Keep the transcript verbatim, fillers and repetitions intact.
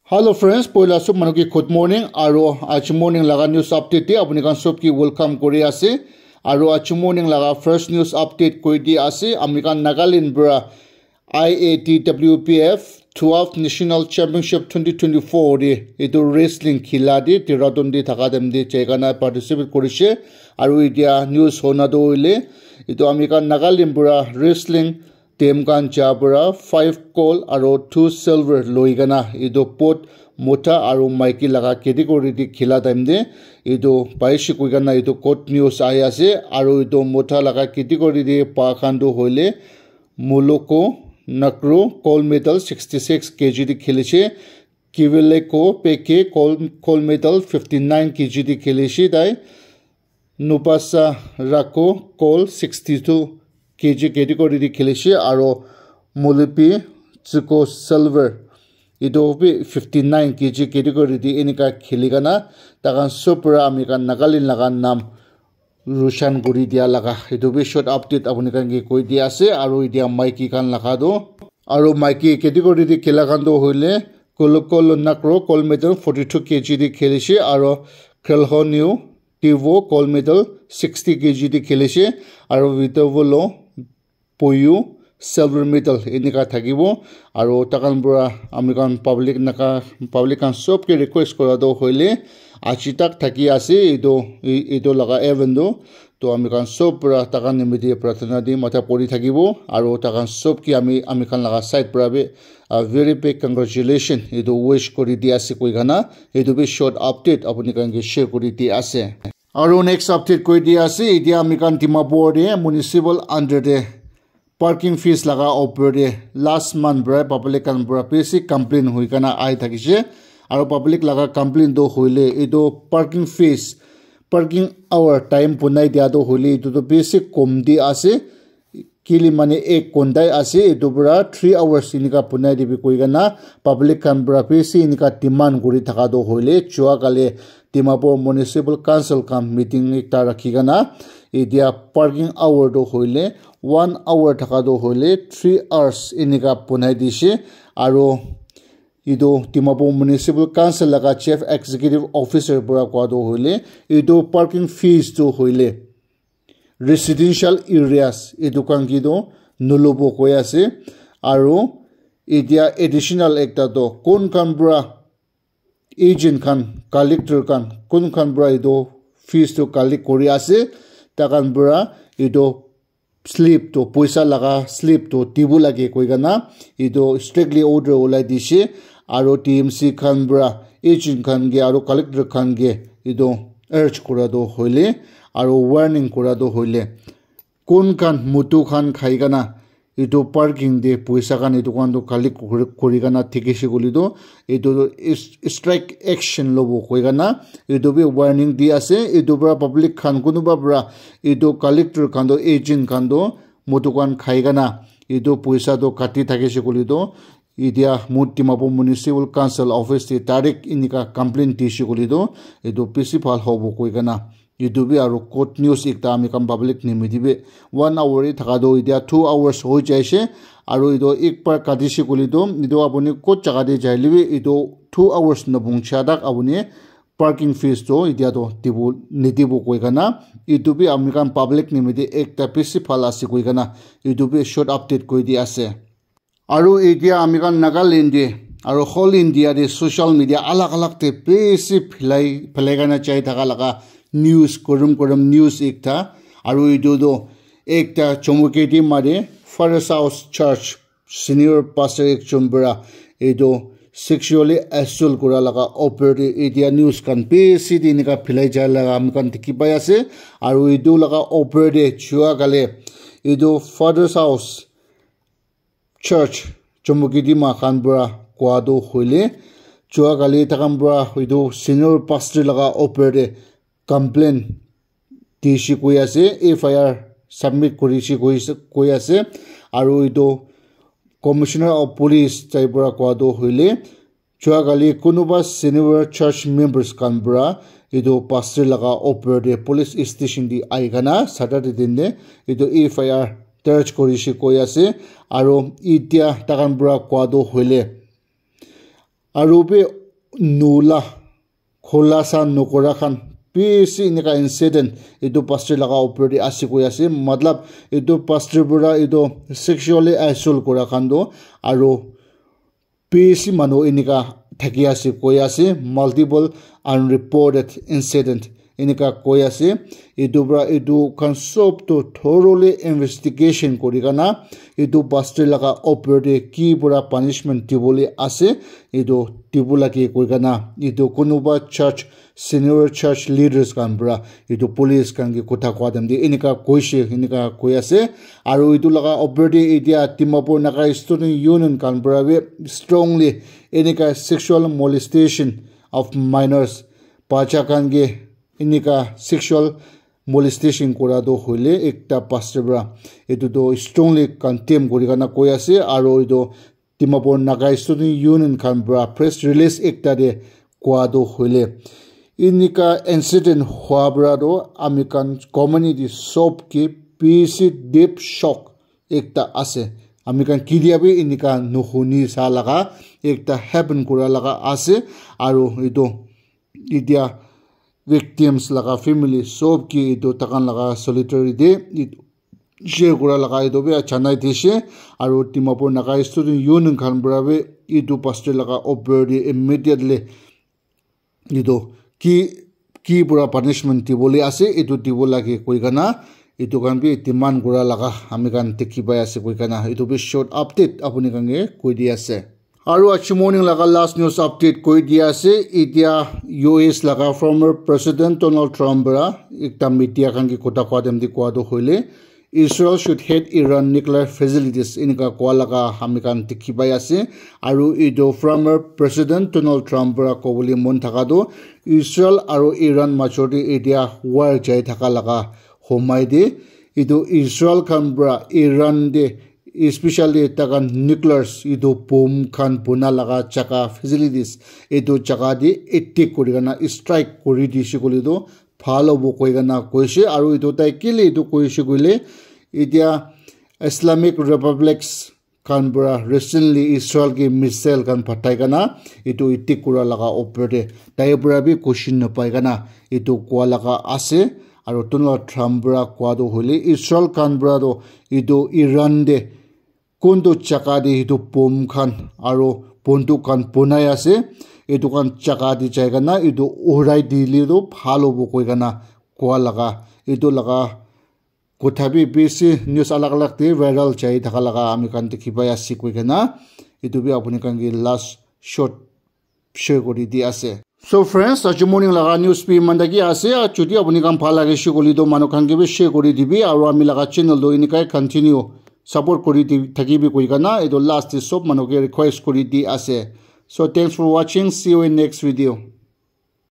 Hello friends, poila sob manu ki good morning, aro aji morning laga news update te apni khan sob ki welcome kuri ase. Aro aji morning laga first news update koi di ase, ami khan Nagaland para I A T W P F twelve National Championship twenty twenty-four de etu wrestling khila de Dehradun de thaka time de jai kana participate kurishe. Aro etia news hona to hoile etu ami khan Nagaland para wrestling team khan ja para five gold aro two silver loi kana etu both mota aro maiki laga category de khila time de etu paishe koi kana etu good news ahi ase. Aro etu mota laga category de pa khan to hoile Moloko Nakro gold medal sixty six K G de khilishe. Kiwileko Peke gold, gold medal fifty nine K G de khilishe tai. Nupasa Rako gold sixty two K G category de khilishe aro Molipi Tsuko silver etu bi fifty nine K G category de enika khili kana takhan sob para ami khan Nagaland laga nam roshan kuri dia laga etu bi short update apni khan ke koi dia ase. Aro etia maiki khan laga to aro maiki category de khila khan to hoile Kolokolo Nakro gold medal forty two K G de khilishe aro Khelhonio Tivo gold medal sixty K G de khilishe aro Vitovolo Poyu silver medal enika thakibo. Aro takhan para ami khan public naka public khan sob ke request kura to hoile aji tak thaki ase etu e- etu laga event to to ami khan sob para takhan nimite prarthana di matha pori thakibo aro takhan sob ke ami ami khan laga side para bi a very big congratulation etu wish kuri di ase koi kana etu bi short update apni khan ke share kuri di ase. Aro next update koi di ase etia ami khan Dimapur de municipal under de parking fees laga opor de last month para public khan para bishi complain hoi kana ahi thakishe. Aro public laga complain to hoile etu parking fees parking hour time bunai dia to hoile etu to bishi kom di ase. Kili mane ek ghonta ase etu para three hours enika bunai dibi koi kana public khan para bishi enika demand kuri thaka to hoile jua kali Dimapur Municipal Council khan meeting ekta rakhi kana etia parking hour to hoile one hour thaka to hoile three hours enika bunai dishe. Aro etu Dimapur Municipal Council laga Chief Executive Officer para koa to hoile etu parking fees to hoile residential areas etu khan ke to nolobo koi ase. Aro etia additional ekta to kun khan para agent khan collector khan kun khan para etu fees to collect kuri ase takhan para etu slip to poisa laga slip to dibo lage koi kana etu strictly order ulai dishe. Aro T M C khan para agent khan ke aro collector khan ke etu urge kura to hoile aro warning kura to hoile kun khan mutu khan khai kana etu parking de poisa khan etu khan to collect kuri- kuri kana thikishe koile to etu to is- strike action lobo koi kana etu bi warning di ase. Etu para public khan kunuba para etu collector khan to agent khan to mutu khan khai kana etu poisa to kati thakishe koile to etia mu Dimapur Municipal Council office de direct enika complain dishe koile to etu bishi bhal hobo koi kana etu bi aro good news ekta ami khan public nimite bi one hour he thaka to etia two hours hoi jaishe. Aro etu ek bar katishe koile to etu apuni kot jaga te jaile bi etu two hours nabung cha tak apuni parking fees to etia to dibo nidibo koi kana etu bi ami khan public nimite ekta bishi bhal ase koi kana etu bi short update koi di ase. Aro etia ami khan Nagaland te aro whole India te social media alag alag te bishi phelai phelai kana jai thaka laga news korom korom news ekta. Aro etu to ekta Chumukedima te Father's House Church senior pastor ekjon para etu sexually assault kura laga opor te etia news khan bishi te enika phelai jai laga ami khan dikhi pai ase. Aro etu laga opor te jua kali etu Father's House Church Chumukedima khan para koa to hoile jua kali takhan para etu senior pastor laga opor te complain dishe koi ase, F I R submit kurishe koi ase, koi ase. Aro etu Commissioner of Police tai para koa to hoile jua kali kunuba senior church members khan para etu pastor laga opor te police station te ahi kana Saturday din te etu F I R darge kurishe koi ase. Aro etia takhan para koa to hoile Aru bi nula khulasa nokora khan bishi enika incident etu pastor laga opor te ase koi ase. Matlab, etu pastor pura etu sexually assault kora khan toh aru bishi manu enika thaki ase koi ase, multiple unreported incident enika koi ase. Etu pura etu khan sob toh thoroughly investigation kori kena etu pastor laga opor te ki pura punishment dibole ase, etu dibo lage koi kena etu kunuba church, senior church leaders khan pura etu police khan ke kotha koa time te enika koise, enika koi ase. Aru etu laga opor te etia Dimapur Naga Student Union khan pura bi strongly enika sexual molestation of minors, bacha khan ke enika sexual molestation kora toh hoile ekta pastor pura etu toh strongly condemn kori kena koi ase. Aru etu Dimapur Naga Student Union khan pura press release ekta te koa toh hoile, enika incident hua pura toh ami khan community sob ke bishi deep shock ekta ase. Ami khan ketia bi enika nuhuni sa laga ekta happen kura laga ase. Aru etu etia victims laga family sob ke etu takhan laga solidarity share kura laga etu bi janai dise. Aru Dimapur Naga Student Union khan pura bi etu pastor laga opor te immediately etu ki, ki pura punishment dibole ase, etu dibo lage koi kena etu khan bi demand kura laga ami khan dikhi pai ase koi kena. Etu bi short update apuni khan ke koi di ase. Aru aji morning laga last news update koi di ase. Etia U S laga former President Donald Trump pura ekta media khan ke kotha koa time te koa toh hoile, Israel should hit Iran nuclear facilities enika koa laga ami khan dikhi pai ase. Aru etu former President Donald Trump pura kobole mon thaka toh Israel aru Iran major te etia war jai thaka laga homai te etu Israel khan pura Iran te especially takhan nuclears etu bomb khan buna laga jaga facilities etu jaga te attack kuri kena strike kuri dise koile toh bhal hobo koi kena koise. Aru etu tai kile etu koise koile etia Islamic Republics khan pura recently Israel ke missile khan pathai kena etu attack kura laga opor te tai pura bi question napai kena etu koa laga ase. Aru Donald Trump pura koa toh hoile Israel khan pura toh etu Iran te kuntu jaga te etu bomb khan aru bunduk khan bunai ase, etu khan jaga te jai kena etu urai dile toh bhal hobo koi kena koa laga etu laga kotha bi bishi news alag alag te viral jai thaka laga ami khan dikhi pai ase koi kena. Etu bi apuni khan ke last short share kuri di ase. So friends, aji morning laga news bi iman taki ase. Jodi apuni khan bhal lage share kuri do manu khan ke bi share kuri dibi aru ami laga channel do inikai continue support kuri di thakibi koi kena etu last te sob manu ke request kuri di ase. So thanks for watching. See you in next video.